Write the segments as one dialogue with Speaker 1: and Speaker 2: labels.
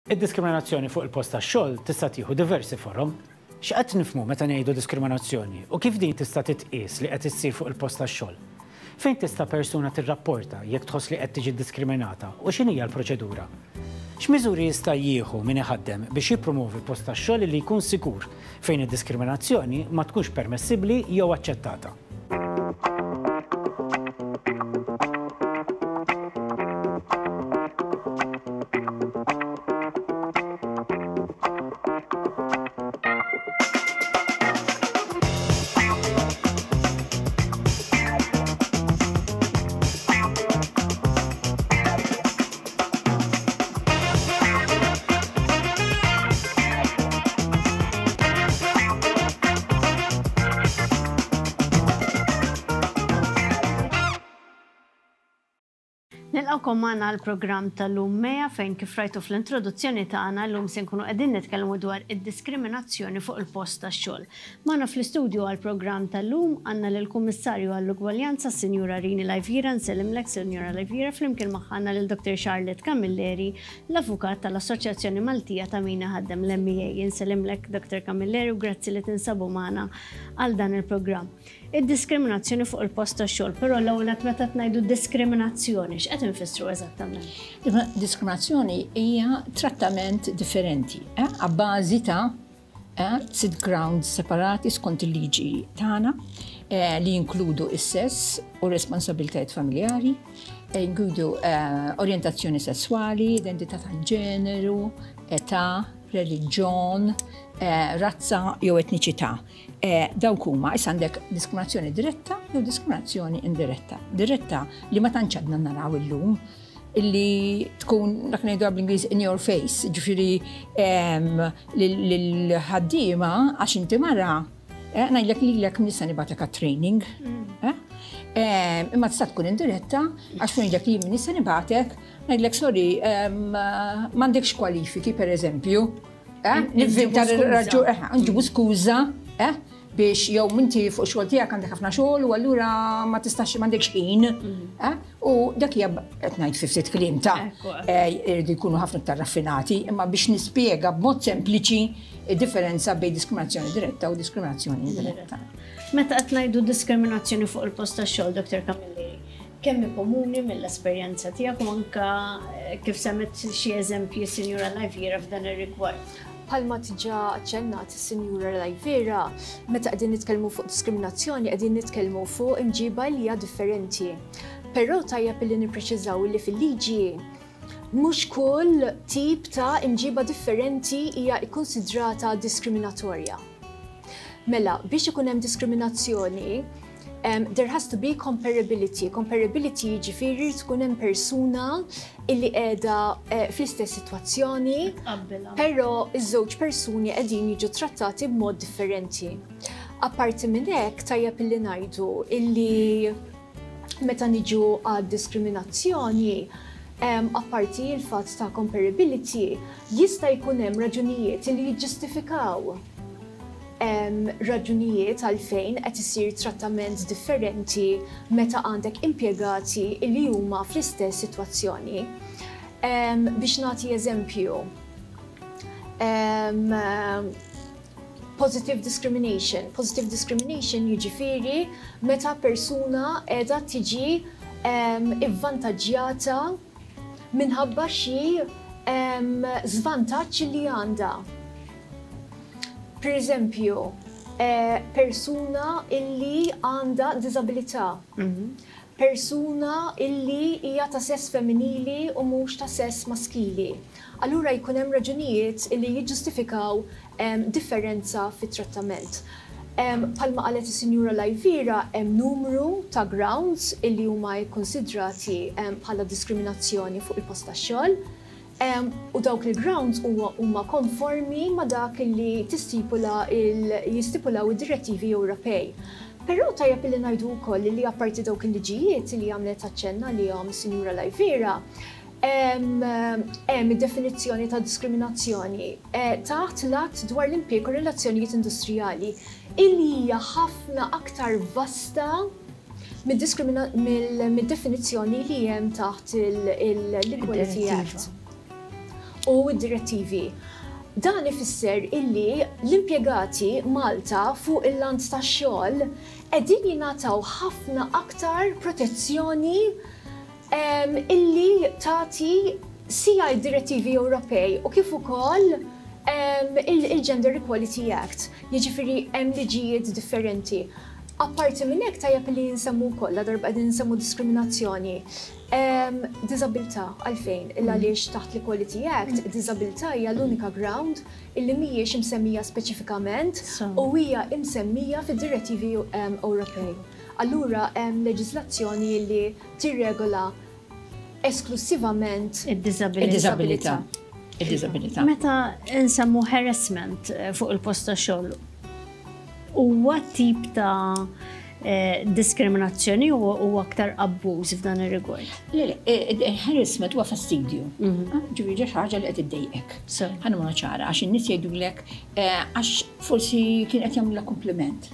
Speaker 1: Id-diskriminazzjoni fuq il-post tax-xogħol tista' tieħu diversi forom. X'qed nifhmu meta ngħidu diskriminazzjoni u kif din tista' titqies li qed issir fuq il-post tax-xogħol? Fejn tista' persuna tirrapporta jekk tħoss li qed tiġi ddiskriminata u x'inhija l-proċedura? X'miżuri jista' jieħu min iħaddem biex jippromovi post tax-xogħol li jkun sikur fejn id-diskriminazzjoni ma tkunx permessibbli jew aċċettata?
Speaker 2: Nilqgħukom magħna għall-programm tal-lum Meja fejn kif rajtu fl-introduzzjoni tagħna llum se nkunu qegħdin nitkellmu dwar id-diskriminazzjoni fuq il-post tax-xogħol. Magħna fl-istudju għall-programm tal-lum għandna lill-Kummissarju għall-Ugwaljanza s-Sinjura Rini Laiviera, nsellimlek Sinjura Laiviera, flimkien magħha għandna lil Dr. Charlotte Camilleri, l-avukat tal-Assoċjazzjoni Maltija ta' Min Iħaddem, l-MEA. Insellimlek Dr. Camilleri u grazzi li tinsabu magħna għal dan il-programm. Id-diskriminazzjoni fuq il-post tax-xogħol, però l-ewwel nett meta qed ngħidu diskriminazzjoni, x'qed infissru eżattament?
Speaker 3: Diskriminazzjoni hija trattament differenti, eh, abbażi ta' Sitt grounds separati skont il-liġi tagħna eh, li jinkludu is-sess u responsabilitajiet familjari, eh, jinkludu eh, orjentazzjoni sesswali, identità tal-ġeneru, età, reliġjon, razza jew etniċità. Dawk huma issa għandek diskriminazzjoni diretta jew diskriminazzjoni indiretta. Diretta li ma tantx għadna naraw illum illi tkun dak ngħidu bl-Ingliż in your face, ġifieri lill-ħaddiema għax inti mara, eh, ngħidlek lilek nista' nibgħatek għat-training. Mm. Eh, imma tista' tkun indiretta għax ngħidlek li jien nista' nibgħatek, ngħidlek sorry, m'għandekx kwalifiki pereżempju. Eh, nivvinta raġu, nġibu skuża, biex jew minti fuq xogħol tiegħek għandek ħafna xogħol u allura ma tistax m'għandekx ħin. Mm. Eh? U dak hija qed ngħid fi ftit kliem ta' eh, irridu jkunu ħafna iktar raffinati, imma biex nispjega b'mod sempliċi id-differenza bejn diskriminazzjoni diretta u diskriminazzjoni indiretta.
Speaker 2: Meta qed ngħidu diskriminazzjoni fuq il-post tax-xogħol, Dr. Camilleri, kemm hi komuni mill-esperjenza tiegħek u anka eh, kif semmet xi eżempji Sinjura Lajviera f'dan ir-rigward.
Speaker 4: Bħalma diġà aċċennat is-Sinjura Lajviera, meta qegħdin nitkellmu fuq diskriminazzjoni qegħdin nitkellmu fuq imġiba li hija differenti. Però tajjeb li nippreċiżaw li fil-liġi mhux kull tip ta' imġiba differenti hija kkunsidrata diskriminatorja. Mela, biex ikun hemm diskriminazzjoni, Um, there has to be comparability. Comparability jiġifieri tkun hemm persuna illi qiegħda eh, fl-istess sitwazzjoni, però iż-żewġ persuni qegħdin jiġu trattati b'mod differenti. Apparti minn hekk tajjeb illi ngħidu illi meta niġu għad diskriminazzjoni, um, apparti il-fatt ta' comparability, jista' jkun hemm raġunijiet li jiġġustifikaw Hemm raġunijiet għalfejn qed isir trattament differenti meta għandek impjegati li huma fl-istess sitwazzjoni. Biex nagħti eżempju, positive discrimination. Positive discrimination jiġifieri meta persuna qiegħda tiġi ivvantaġġjata minħabba xi żvantaġġ li għandha. Per eżempju, eh, persuna illi għandha diżabilità, mhm. persuna illi hija ta' sess femminili u mhux ta' sess maskili. Allura jkun hemm raġunijiet illi jiġġustifikaw differenza fit-trattament. Bħalma qalet is-Sinjura Lajvira hemm numru ta' grounds illi huma kkunsidrati bħala diskriminazzjoni fuq il-post tax-xogħol. U dawk il-grounds huma konformi ma' dak li tistipula jistipulaw id-direttivi Ewropej. Però tajjeb illi ngħidu wkoll li apparti dawk il-liġijiet li għamlet aċċenn għalihom is-Sinjura Lajvira, hemm id-definizzjoni ta' diskriminazzjoni eh, taħt l-Att dwar l-Impjieg u Relazzjonijiet Industrijali illi hija ħafna aktar vasta mid-definizzjoni li hemm taħt l-Equality Act. u d-direttivi. Dan ifisser illi l-impjegati Malta fuq il-lant tax-xogħol qegħdin jingħataw ħafna aktar protezzjoni illi tagħti sija d-direttivi Ewropej u kif ukoll il-Gender Equality Act, jiġifieri hemm liġijiet differenti. Apparti minn hekk tajjeb li nsemmu wkoll, ladarba qegħdin nsemmu diskriminazzjoni, diżabilità. Għalfejn? Il għaliex taħt l-Equality Act, diżabilità hija l-unika ground illi mhijiex imsemmija speċifikament u hija imsemmija fid-direttivi Ewropej. Allura hemm leġiżlazzjoni li tirregola esklussivament
Speaker 2: id-diżabilità.
Speaker 3: Id-diżabilità.
Speaker 2: Meta nsemmu harassment fuq il-post ta' xogħol, huwa tip ta' diskriminazzjoni u aktar abbuż f'dan ir-rigward?
Speaker 3: Le, harassment huwa fastidju. Ġifieri ġa xi ħaġa li qed iddejqek. Ħa nagħmluha ċara għax in-nies jgħidulek għax forsi kien qed jagħmlilha kumpliment.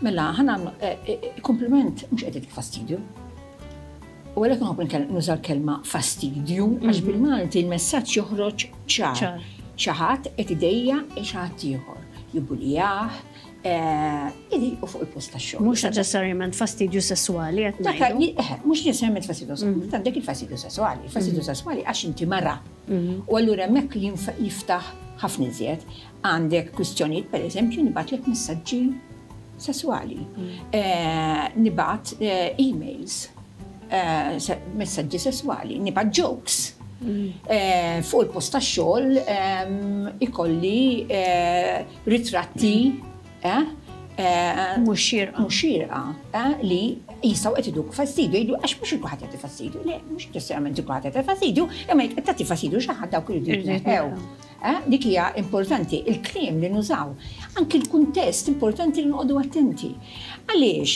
Speaker 3: Mela, ħa nagħmlu kumpliment mhux qed jagħtik fastidju. U għalhekk nħobb nuża l-kelma fastidju, għax bil-Malti l-messaġġ joħroġ ċar. Xi ħadd qed idejjaq il xi ħadd ieħor, jibbulijah, idejqu fuq il-post tax-xogħol.
Speaker 2: Mhux neċessarjament fastidju sesswali qed ngħidu.
Speaker 3: Mhux neċessarjament fastidju sesswali, għandek il-fastidju sesswali, il-fastidju sesswali għax inti mara. U allura hemmhekk jiftaħ ħafna iżjed. Għandek kwistjonijiet, pereżempju, nibgħatlek messaġġi sesswali, nibgħat emails, messaġġi sesswali, nibgħat jokes. Fuq il-post tax-xogħol ikolli ritratti
Speaker 2: mhux xierqa.
Speaker 3: Mhux xierqa li jistgħu qed iduk fastidju, jgħidu għax mhux kulħadd jagħti fastidju. Le, mhux neċessarjament kulħadd jagħti fastidju, imma jekk qed tagħti fastidju xi ħadd dawk iridu jitneħħew. Dik hija importanti, il-kliem li nużaw, anki l-kuntest importanti li noqogħdu attenti. Għaliex,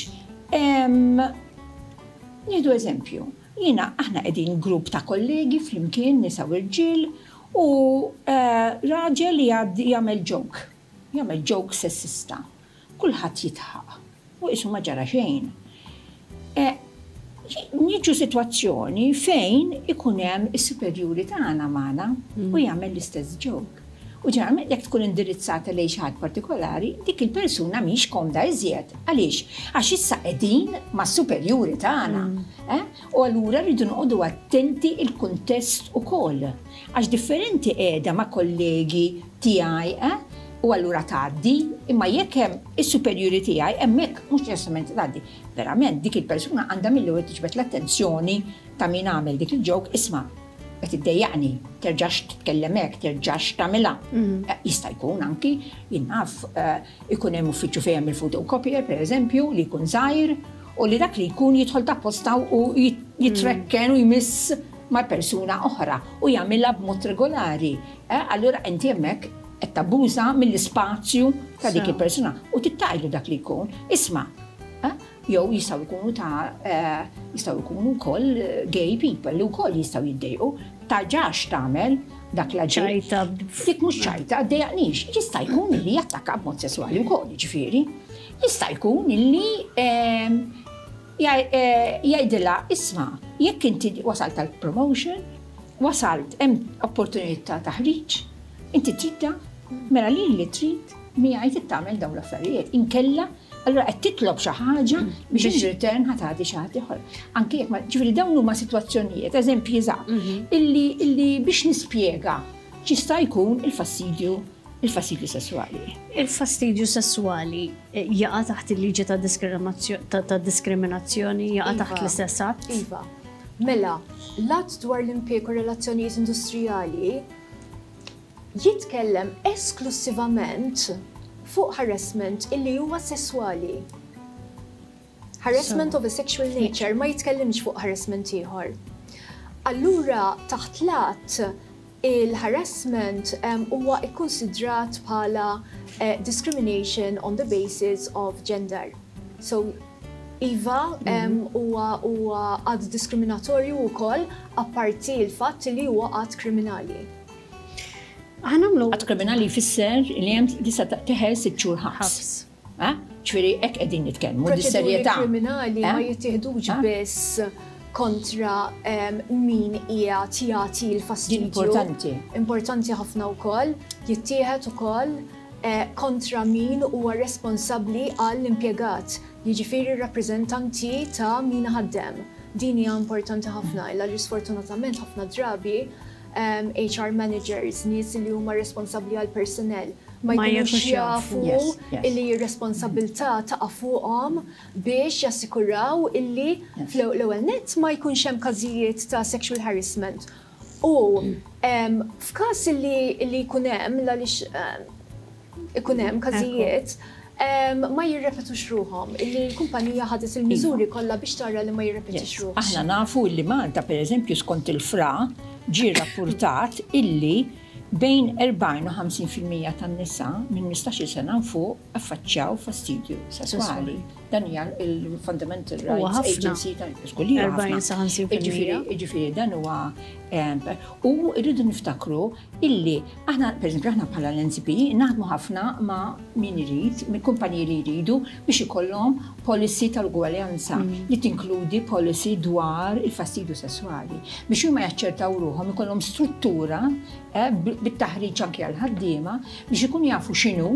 Speaker 3: nieħdu eżempju, jiena aħna qegħdin grupp ta' kollegi flimkien nisa u rġiel u raġel li jagħmel joke, jagħmel joke sessista. Kulħadd jidħaq u qisu ma ġara xejn. Niġu sitwazzjoni fejn ikun hemm is-superjuri tagħna magħna u jagħmel l-istess joke. U ġeneralment jekk tkun indirizzata lejn xi ħadd partikolari, dik il-persuna mhix komda iżjed. Għaliex? Għax issa qegħdin mas-superjuri tagħna. U allura rridu noqogħdu attenti il-kuntest ukoll. Għax differenti qiegħda ma' kollegi tiegħi, u allura tgħaddi, imma jekk hemm is-superjuri tiegħi hemmhekk mhux neċessarjament tgħaddi. Verament dik il-persuna għandha mill-ewwel tiġbed l-attenzjoni ta' min għamel dik il-joke, isma' qed iddejjaqni, terġax titkellem hekk, terġax tagħmilha. Jista' jkun anki, jien naf, ikun hemm uffiċċju fejn hemm il-photocopier, pereżempju, li jkun żgħir, u li dak li jkun jidħol ta' posta u jitrekken u jmiss ma' persuna oħra u jagħmilha b'mod regolari. Allura inti hemmhekk qed tabbuża mill-ispazju ta' dik il-persuna u tittajlu dak li jkun. Isma', jew jistgħu jkunu ta' jistgħu jkunu wkoll gay people li wkoll jistgħu jiddejqu, tarġax tagħmel dak l-aġir.
Speaker 2: Ċajta.
Speaker 3: Dik mhux ċajta, ddejjaqnix. Jista' jkun li jattakka b'mod sesswali wkoll, jiġifieri. Jista' jkun li jgħidilha isma' jekk inti wasalt għal promotion, wasalt hemm opportunità ta' taħriġ, inti tridha, mela lili li trid miegħi trid tagħmel dawn l-affarijiet. Inkella allura qed titlob xi ħaġa biex in return ħa tagħti xi ħadd ieħor. Anke jekk ma, ġifieri dawn huma sitwazzjonijiet, eżempji żgħar, illi, illi biex nispjega x'jista' jkun il-fastidju, il-fastidju sesswali.
Speaker 2: Il-fastidju sesswali jaqa' taħt il-liġi ta' ta' diskriminazzjoni, jaqa' taħt l-istess att?
Speaker 4: Iva. Mela, l-Att dwar l-Impjieg u Relazzjonijiet Industrijali jitkellem esklussivament fuq harassment illi huwa sesswali. Harassment of a sexual nature, ma jitkellimx fuq harassment ieħor. Allura taħt l-att il-harassment huwa kkunsidrat bħala discrimination on the basis of gender. So iva, huwa huwa att diskriminatorju wkoll apparti l-fatt li huwa att kriminali.
Speaker 2: Ħa nagħmlu.
Speaker 3: Att kriminali jfisser li hemm tista' teħel 6 xhur ħabs. Ġifieri hekk qegħdin nitkellmu,
Speaker 4: Proċeduri
Speaker 3: dis-serjetà.
Speaker 4: kriminali ma jittieħdux biss. kontra min qiegħed jagħti l-fastidju.
Speaker 3: Importanti.
Speaker 4: Importanti ħafna wkoll, jittieħed ukoll kontra min huwa responsabbli għall-impjegat, jiġifieri r-rappreżentanti ta' min iħaddem. Din hija importanti ħafna għaliex sfortunatament ħafna drabi HR managers, nies li huma responsabbli għall-personnel, ma jkunux jafu illi r-responsabbiltà taqa' fuqhom biex jassikuraw illi fl-ewwel nett ma jkunx hemm każijiet ta' sexual harassment u f'każ illi jkun hemm, għaliex ikun hemm każijiet, ma jirrepetux ruħhom, illi l-kumpanija ħadet il-miżuri kollha biex tara li ma jirrepetix ruħhom.
Speaker 3: Aħna nafu illi Malta, pereżempju, skont il-FRA, ġie rrappurtat illi bejn 40 u 50% tan-nisa minn 15-il sena 'l fuq affaċċjaw fastidju sesswali. Dan hija l-Fundamental Rights Agency ta'
Speaker 2: 40 sa 50%.
Speaker 3: Jiġifieri dan huwa u rridu niftakru illi aħna, pereżempju, aħna bħala l-NCP naħdmu ħafna ma' min irid, minn kumpaniji li jridu biex ikollhom policy tal-ugwaljanza li tinkludi policy dwar il-fastidju sesswali biex huma jaċċertaw ruħhom ikollhom struttura bit-taħriġ anke għall-ħaddiema biex ikunu jafu x'inhu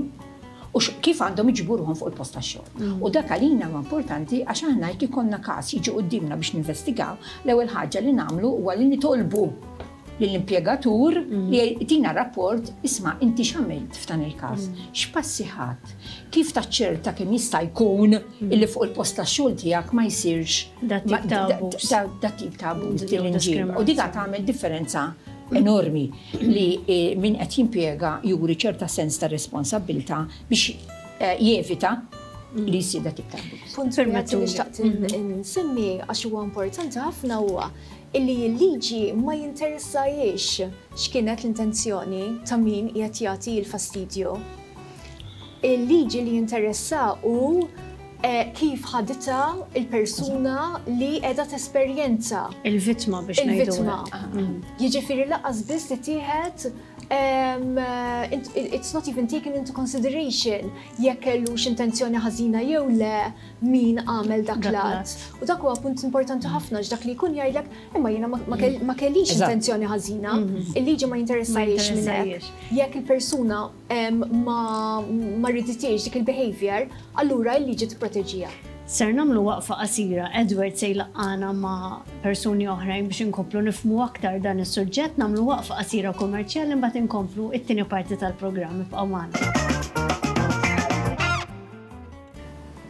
Speaker 3: u kif għandhom iġibu ruħhom fuq il-post tax-xogħol. U dak għalina huwa importanti għax aħna jekk ikollna każ jiġi quddiemna biex ninvestigaw, l-ewwel ħaġa li nagħmlu huwa li nitolbu lill-impjegatur li jtina rapport isma' inti x'għamilt f'dan il-każ, x'passi ħadt, kif taċċerta kemm jista' jkun illi fuq il-post tax-xogħol tiegħek ma jsirx
Speaker 2: Dat tip ta' abbuż.
Speaker 3: Dat tip ta' abbuż din l-imġiba. U dik tagħmel differenza enormi li min qed jimpjega juri ċerta sens ta' responsabbiltà biex jevita li jsir dat tip ta' abbuż.
Speaker 4: Punt wieħed li xtaqt insemmi għax huwa importanti ħafna huwa illi l-liġi ma jinteressahiex x'kienet l-intenzjoni ta' min qiegħed jagħti l-fastidju. Il-liġi li jinteressa hu kif ħaditha l-persuna li qiegħda tesperjenza.
Speaker 2: Il-vittma biex ngħidu.
Speaker 4: Il-vittma. Jiġifieri lanqas biss tittieħed it's not even taken into consideration jekk kellux intenzjoni ħażina jew le min għamel dak l-att. U dak huwa punt importanti ħafna dak li jkun jgħidlek imma jiena ma kellix intenzjoni ħażina, il-liġi ma jinteressahiex minn hekk. Jekk il-persuna ma riditiex dik il-behavior, allura l-liġi tipproteġiha.
Speaker 2: Ser nagħmlu waqfa qasira, Edward se jlaqqana ma' persuni oħrajn biex inkomplu nifhmu aktar dan is-suġġett, nagħmlu waqfa qasira kummerċjali mbagħad inkomplu it-tieni parti tal-programm ibqgħu magħna.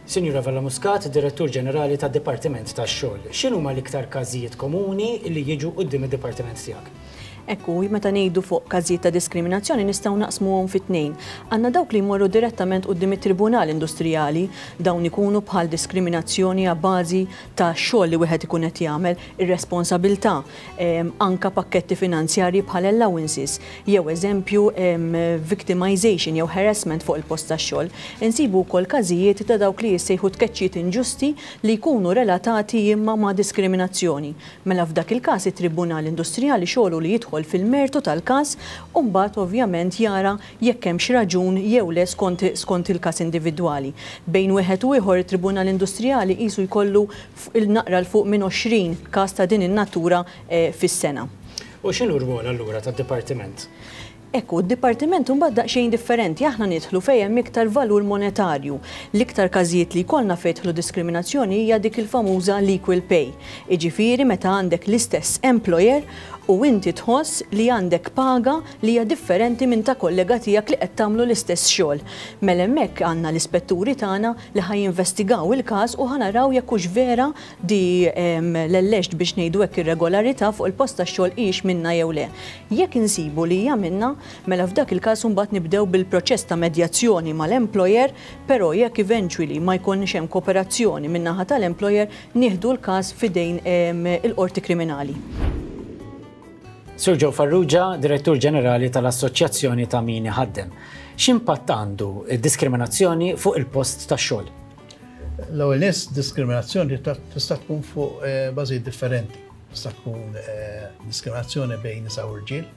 Speaker 1: Sinjura Vella Muscat, Direttur Ġenerali tad-Dipartiment tax-Xogħol. X'inhuma l-iktar każijiet komuni li jiġu quddiem id-dipartiment tiegħek?
Speaker 5: Ekku, meta ngħidu fuq każijiet ta' diskriminazzjoni nistgħu naqsmuhom fi tnejn. Għandna dawk li jmorru direttament quddiem it-Tribunal Industrijali, dawn ikunu bħal diskriminazzjoni a bażi ta' xogħol li wieħed ikun qed jagħmel, ir-responsabilità, anka pakketti finanzjarji bħal allowances, jew eżempju victimization jew harassment fuq il-post tax-xogħol. Insibu wkoll każijiet ta' dawk li jissejħu tkeċċiet inġusti li jkunu relatati imma ma' diskriminazzjoni. Mela f'dak il-każ it-Tribunal Industrijali xogħlu li jidħol fil-mertu tal-każ u mbagħad ovvjament jara jekk hemmx raġun jew le skont il-każ individwali. Bejn wieħed u ieħor it-Tribunal Industrijali qisu jkollu il-naqra 'l fuq minn 20 każ ta' din in-natura fis-sena.
Speaker 1: U x'inhu r-rwol allura tad-dipartiment?
Speaker 5: Ekku, d-dipartiment imbagħad daqsxejn differenti, aħna nidħlu fejn hemm iktar valur monetarju. L-iktar każijiet li jkollna fejn jidħlu diskriminazzjoni hija dik il-famuża l-equal pay. Jiġifieri meta għandek l-istess employer u inti tħoss li għandek paga li hija differenti minn ta' kollega tiegħek li qed tagħmlu l-istess xogħol. Mela hemmhekk għandna l-ispetturi tagħna li ħa jinvestigaw il-każ u ħa naraw jekk hux vera di l-alleged biex ngħidu hekk irregolarità fuq il-post tax-xogħol hijiex minna jew le. Jekk insibu li hija minna, mela f'dak il-każ imbagħad nibdew bil-proċess ta' medjazzjoni mal-employer, però jekk eventually ma jkunx hemm kooperazzjoni min-naħa tal-employer, nieħdu l-każ f'idejn il-qorti kriminali.
Speaker 1: Sur Joe Farrugia, Direttur Ġenerali tal-Assoċjazzjoni ta' Min Iħaddem. X'impatt għandu d-diskriminazzjoni fuq il-post tax-xogħol?
Speaker 6: L-ewwel nett diskriminazzjoni tista' tkun fuq bażijiet differenti. Tista' tkun diskriminazzjoni bejn nisa u rġiel,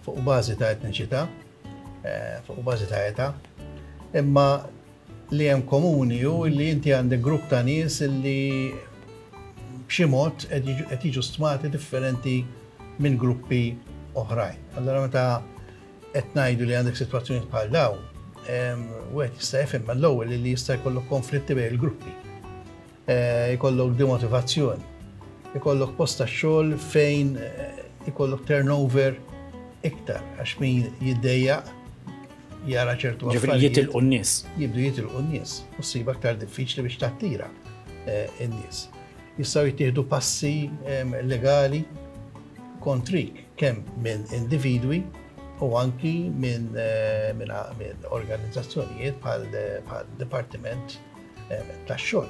Speaker 6: fuq bażi ta' etniċità, fuq bażi ta' età. Imma li hemm komuni hu li inti għandek grupp ta' nies li b'xi mod qed jiġu stmati differenti minn gruppi oħrajn. Allora meta qed ngħidu li għandek sitwazzjonijiet bħal dawn, wieħed jista' jifhem mal-ewwel li jista' jkollok konflitti bejn il-gruppi. Eh, jkollok demotivazzjoni, ikollok post tax-xogħol fejn eh, ikollok turnover iktar għax min jiddejjaq jara ċertu
Speaker 1: affarijiet. Jitilqu n-nies.
Speaker 6: Jibdu jitilqu n-nies u ssib aktar diffiċli biex tattira eh, n-nies. Jistgħu jittieħdu passi legali kontrik kemm minn individwi u anki minn eh, min, min organizzazzjonijiet bħal dipartiment eh, tax-xogħol.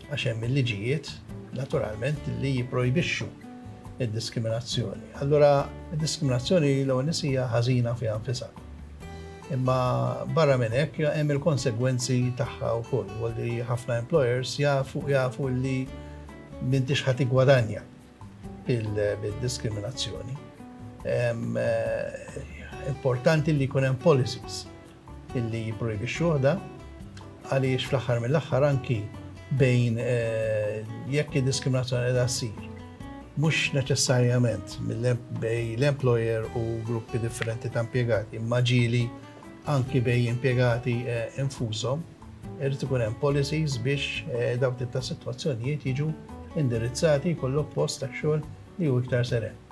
Speaker 6: Għax hemm il-liġijiet naturalment li jipprojbixxu id-diskriminazzjoni. Allura id-diskriminazzjoni l-ewwel hija ħażina fiha nfisha. Imma barra minn hekk hemm il-konsegwenzi tagħha wkoll, u li ħafna employers jafu jafu li m'intix ħa tiggwadanja bil-diskriminazzjoni. Eh, importanti li jkun hemm policies illi jipprojbixxuh da għaliex fl-aħħar mill-aħħar anki bejn eh, jekk id-diskriminazzjoni qiegħda ssir mhux neċessarjament bejn l-employer u gruppi differenti ta' impjegati, imma ġieli anki bejn impjegati eh, infushom, irid ikun hemm policies biex eh, dawk tip ta' sitwazzjonijiet jiġu indirizzati jkollok post ta' xogħol li hu iktar seren.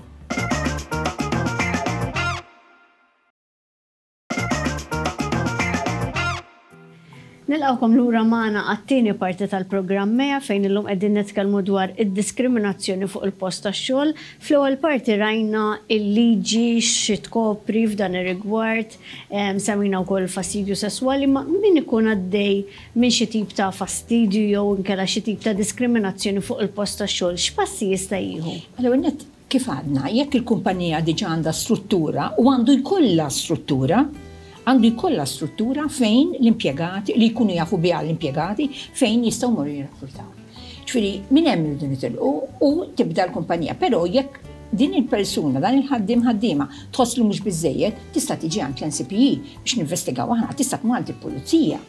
Speaker 2: Nilqgħukom lura magħna għat-tieni parti tal-programm MEA fejn illum qegħdin nitkellmu dwar id-diskriminazzjoni fuq il-post tax-xogħol. Fl-ewwel parti rajna l-liġi xi tkopri f'dan ir-rigward, semmejna wkoll il-fastidju sesswali, imma min ikun għaddej minn xi tip ta' fastidju jew inkella xi tip ta' diskriminazzjoni fuq il-post tax-xogħol, x'passi jista' jieħu?
Speaker 3: L-ewwel nett Kif għadna, jekk il-kumpanija diġà għandha struttura, u għandu jkollha struttura, għandu jkollha struttura fejn l-impjegati, li jkunu jafu biha l-impjegati, fejn jistgħu jmorru jirrappurtaw. Ġifieri, minn hemm irridu nitilqu u tibda l-kumpanija. Però jekk din il-persuna, dan il-ħaddiem ħaddiema, tħoss li mhux biżżejjed, tista' tiġi għand l-NCPE biex ninvestigaw aħna, tista' tmur għand il-pulizija,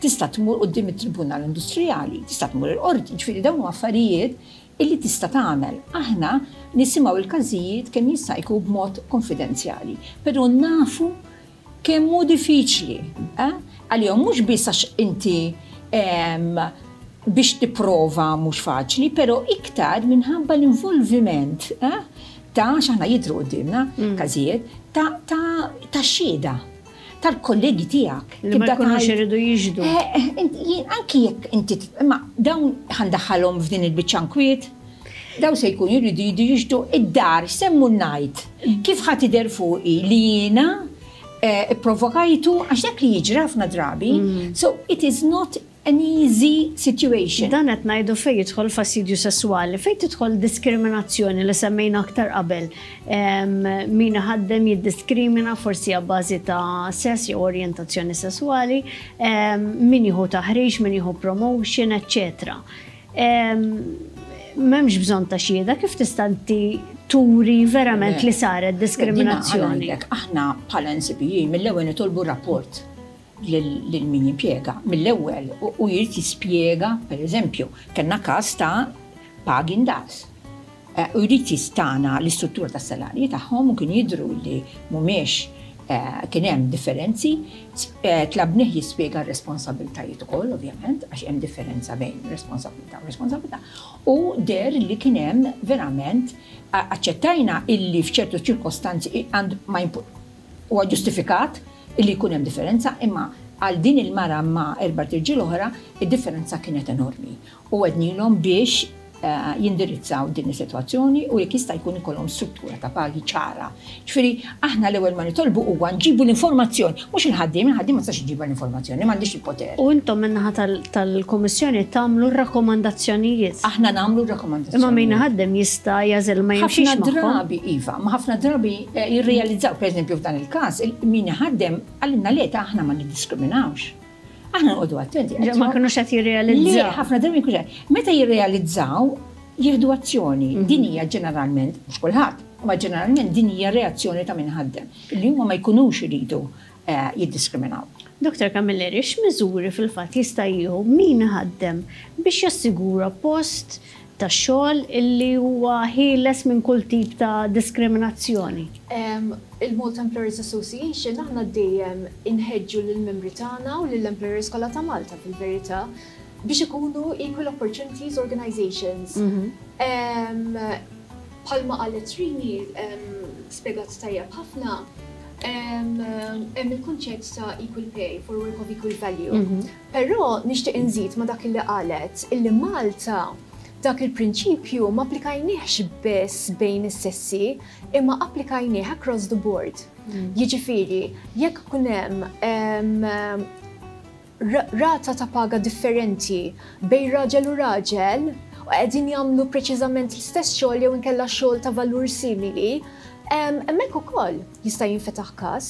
Speaker 3: tista' tmur quddiem it-Tribunal Industrijali, tista' tmur il-qorti, ġifieri dawn huma affarijiet illi tista' tagħmel. Aħna nisimgħu l-każijiet kemm jista' jkun b'mod konfidenzjali, però nafu kemm hu diffiċli eh, għalihom mhux biss għax inti biex tipprova mhux faċli, però iktar minħabba l-involviment eh, ta' x'aħna jidhru quddiemna mm. każijiet ta' ta' ta' xhieda tal-kollegi tiegħek.
Speaker 2: Li ma jkunux iridu jixhdu.
Speaker 3: Eh, eh, anki jekk inti, imma dawn ħa ndaħħalhom f'din il-biċċa nkwiet, daw se jkun jridu jidu jixhdu id-dar, semmu ngħid. Kif ħa tidher fuqi li jiena eh, provokajtu għax dak li jiġri ħafna drabi. So it is not an easy situation.
Speaker 2: Dan qed ngħidu fejn jidħol fastidju sesswali, fejn tidħol diskriminazzjoni li semmejna aktar qabel. Min iħaddem jiddiskrimina forsi abbażi ta' sess jew orjentazzjoni sesswali, min jieħu taħriġ, min jieħu promotion, eċċetera. M'hemmx bżonn ta' xhieda, kif tista' inti turi verament li saret diskriminazzjoni?
Speaker 3: Aħna bħala NCPE mill-ewwel nitolbu rapport lil min jimpjega mill-ewwel u jrid jispjega, pereżempju, kellna każ ta' pagi ndaqs. Eh, u jrid jistana l-istruttura tas-salarji tagħhom u kien jidhru li mhumiex eh, kien hemm differenzi, eh, tlabnih jispjega r-responsabbiltajiet ukoll, ovvjament, għax hemm differenza bejn responsabilità u responsabilità, u der li kien hemm verament aċċettajna illi f'ċertu ċirkostanzi ma Huwa ġustifikat illi jkun hemm differenza imma għal din il-mara ma' erbat irġiel oħra id-differenza kienet enormi u għednilhom biex jindirizzaw din is-sitwazzjoni u jekk jista' jkun ikollhom struttura ta' pagi ċara. Ġifieri aħna l-ewwel ma nitolbu huwa nġibu l-informazzjoni, mhux il-ħaddiem, il-ħaddiem ma tistax iġġibha l-informazzjoni, m'għandix il-poter.
Speaker 2: U intom min-naħa tal-Kummissjoni tagħmlu r-rakkomandazzjonijiet.
Speaker 3: Aħna nagħmlu r-rakkomandazzjonijiet.
Speaker 2: Imma min iħaddem jista' jagħżel ma jimxix magħhom.
Speaker 3: Ħafna drabi iva, ma ħafna drabi jirrealizzaw, pereżempju f'dan il-każ, min iħaddem qalilna le ta' aħna ma niddiskriminawx. Aħna noqogħdu attenti.
Speaker 2: Ma kinux qed jirrealizzaw.
Speaker 3: Le, ħafna drabi jkunx qed. Meta jirrealizzaw, jieħdu azzjoni. Din hija ġeneralment, mhux kulħadd, imma ġeneralment din hija reazzjoni ta' min iħaddem, li huma ma jkunux iridu jiddiskriminaw.
Speaker 2: Dottor Camilleri, x'miżuri fil-fatt jista' jieħu min iħaddem biex jassigura post tax-xogħol illi huwa ħieles minn kull tip ta' diskriminazzjoni?
Speaker 4: Il-Malta Employers Association aħna dejjem inħeġġu lill-membri tagħna u lill-employers kollha ta' Malta fil-verità biex ikunu Equal Opportunities Organizations. Bħalma qalet Rini, spjegat tajjeb ħafna, hemm il-kunċett ta' equal pay for work of equal value. Però nixtieq inżid ma' dak li qalet illi Malta dak il-prinċipju ma applikajniehx biss bejn is-sessi imma applikajnieh across the board. Jiġifieri, jekk ikun hemm rata ta' paga differenti bejn raġel u raġel u qegħdin jagħmlu preċiżament l-istess xogħol jew inkella xogħol ta' valur simili, hemmhekk ukoll jista' jinfetaħ każ.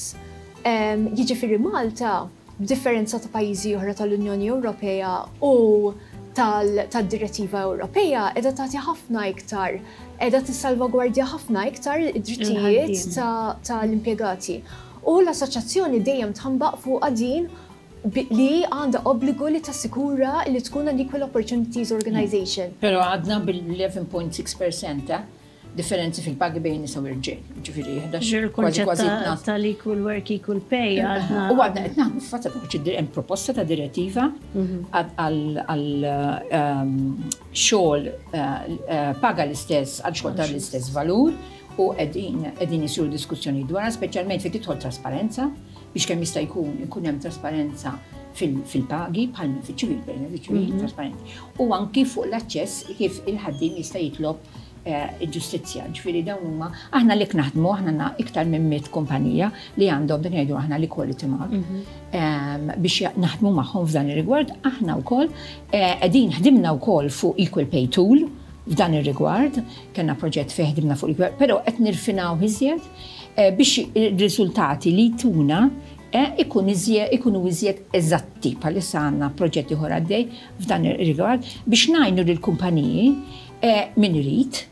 Speaker 4: Jiġifieri Malta, b'differenza ta' pajjiżi oħra tal-Unjoni Ewropea u tad-Direttiva Ewropea, qiegħda tagħti ħafna iktar, qiegħda tissalvagwardja ħafna iktar id-drittijiet tal-impjegati. U l-assoċjazzjoni dejjem tħambaq fuqha din li għandha obbligu li tassikura li tkun an Equal Opportunities Organization.
Speaker 3: Però għadna bil-11.6% eh, differenzi fil-pagi bejn nisa u irġiel. Ġifieri 11
Speaker 2: kważi kważi tal-equal work, equal pay għadna.
Speaker 3: U għadna qed naħdmu fatta hemm proposta ta' direttiva mhm. għal ehm, xogħol eh, eh, paga l-istess għal xogħol tal-istess valur u qegħdin qegħdin isiru diskussjoni dwarha, speċjalment fejn tidħol trasparenza, biex kemm jista' jkun ikun hemm trasparenza fil-pagi bħal minn fiċ-ċivil, per eżempju, ċivil mhm. trasparenti. U anki fuq l-aċċess kif il-ħaddiem jista' jitlob eh, il-ġustizzja. Ġifieri dawn huma aħna li naħdmu aħna għandna iktar minn mit kumpanija li għandhom dak ngħidu aħna l-equality mark mhm. ehm, biex naħdmu magħhom f'dan ir-rigward aħna wkoll eh, qegħdin ħdimna wkoll fuq equal pay tool f'dan ir-rigward Kellna proġett fejn ħdimna fuq il-gvern, però qed nirfinaw iżjed eh, biex ir-riżultati li jtuna eh, ikun iżjed ikunu iżjed eżatti bħalissa għandna proġett ieħor għaddej f'dan ir-rigward biex ngħinu lill-kumpaniji eh, min irid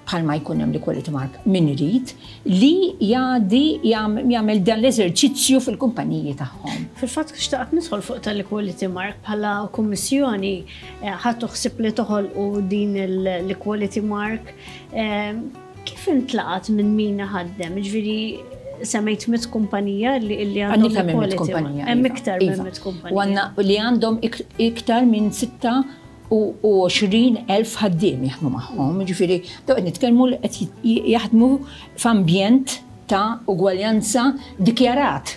Speaker 3: bħalma jkun hemm l-equality mark min irid li jgħaddi jagħmel dan l-eżerċizzju fil-kumpaniji tagħhom.
Speaker 2: Fil-fatt xtaqt nidħol fuq tal-equality mark bħala kummissjoni Ħadtu ħsieb li toħolqu din l-equality mark. Kif intlaqat minn min iħaddem? Ġifieri semmejt mit kumpanija li għandhom
Speaker 3: equality mark.
Speaker 2: Hemm iktar minn mit kumpanija.
Speaker 3: U għandna li għandhom iktar minn 26,000 ħaddiem jaħdmu magħhom. Ġifieri dawn qed nitkellmu li qed jaħdmu f'ambjent ta' ugwaljanza dikjarat.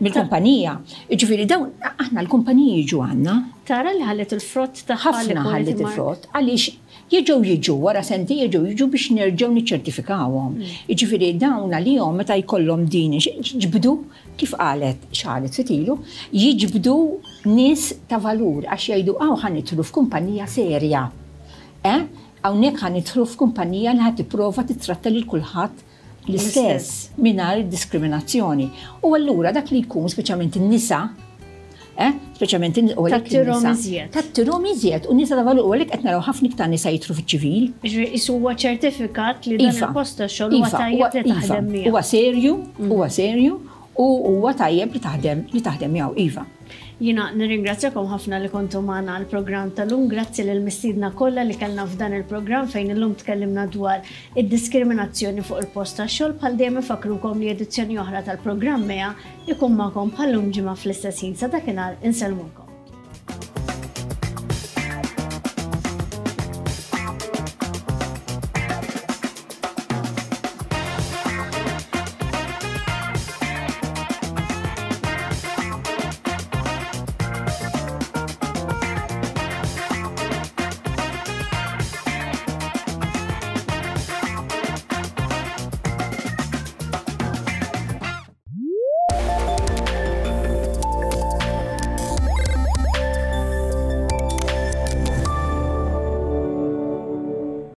Speaker 3: Mill-kumpanija. Jiġifieri dawn aħna l-kumpaniji jiġu għandna.
Speaker 2: Tara li ħalliet il-frott tagħha
Speaker 3: Ħafna ħalliet il-frott għaliex jerġgħu jiġu wara sentejn jerġgħu jiġu biex nerġgħu niċċertifikawhom. Jiġifieri dawn għalihom meta jkollhom din jiġbdu kif qalet x'qalet ftit ilu, jiġbdu nies ta' valur għax jgħidu hawn ħa nidħlu f'kumpanija serja. Eh? Hawnhekk ħa nidħlu f'kumpanija li ħa tipprova tittratta lil kulħadd l-istess mingħajr diskriminazzjoni. U allura dak li jkun speċjalment in-nisa, eh, speċjalment in
Speaker 2: Tattirhom iżjed.
Speaker 3: Tattirhom iżjed u nisa ta' valur u għalhekk qed naraw ħafna iktar nisa jidħlu fiċ-ċivil.
Speaker 2: Ġifieri qisu huwa ċertifikat li dan iva. il-post ta' xogħol huwa iva, tajjeb li
Speaker 3: iva.
Speaker 2: taħdem miegħu.
Speaker 3: Huwa serju, huwa serju u huwa tajjeb li taħdem li taħdem miegħu iva.
Speaker 2: Jiena nirringrazzjakom ħafna li kontu magħna għall-programm tal-lum. Grazzi lill-mistiedna kollha li kellna f'dan il-programm fejn illum tkellimna dwar id-diskriminazzjoni fuq il-post tax-xogħol. Bħal dejjem infakkrukom li edizzjoni oħra tal-programm MEA ikun magħkom bħal-lum ġimgħa fl-istess ħin. Sa dakinhar insellmulkom.